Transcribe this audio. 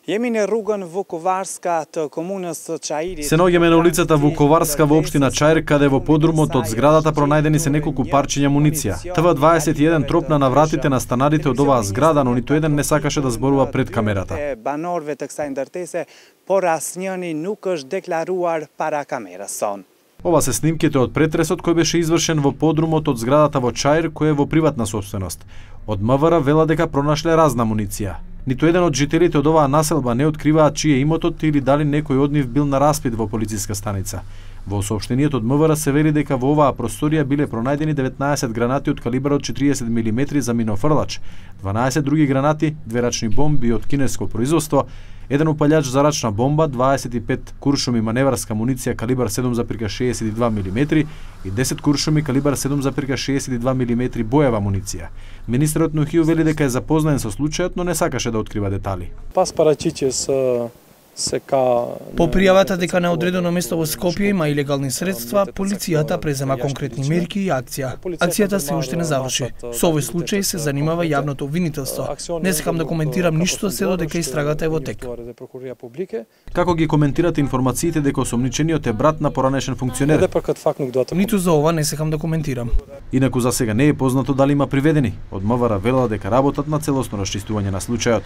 Се наоѓаме на улицата Вуковарска во општина Чаир, каде во подрумот од зградата пронајдени се неколку парчиња муниција. ТВ21 тропна на вратите на станарите од оваа зграда, но ниту еден не сакаше да зборува пред камерата. Ова се снимките од претресот кој беше извршен во подрумот од зградата во Чаир, кој е во приватна сопственост. Од МВР вела дека пронашле разна муниција. Ниту еден од жителите од оваа населба не откриваат чие е имотот или дали некој од нив бил на распит во полициска станица. Во соопштениот од МВР се вели дека во оваа просторија биле пронајдени 19 гранати од калибар од 40 мм за минофрлач, 12 други гранати, 2 рачни бомби од кинеско производство, еден упалјач за рачна бомба, 25 куршуми маневарска муниција калибар 7,62 мм и 10 куршуми калибар 7,62 мм боева муниција. Министерот Нухију вели дека е запознаен со случајот, но не сакаше да открива детали. По пријавата дека на одредено место во Скопје има илегални средства, полицијата презема конкретни мерки и акција. Акцијата се уште не заврши. Со овој случај се занимава јавното обвинителство. Не сакам да коментирам ништо се додека истрагата е во тек. Како ги коментирате информациите дека осомничениот е брат на поранешен функционер? Ниту за ова не сакам да коментирам. Инаку за сега не е познато дали има приведени. Од МВР велела дека работат на целосно расчистување на случајот.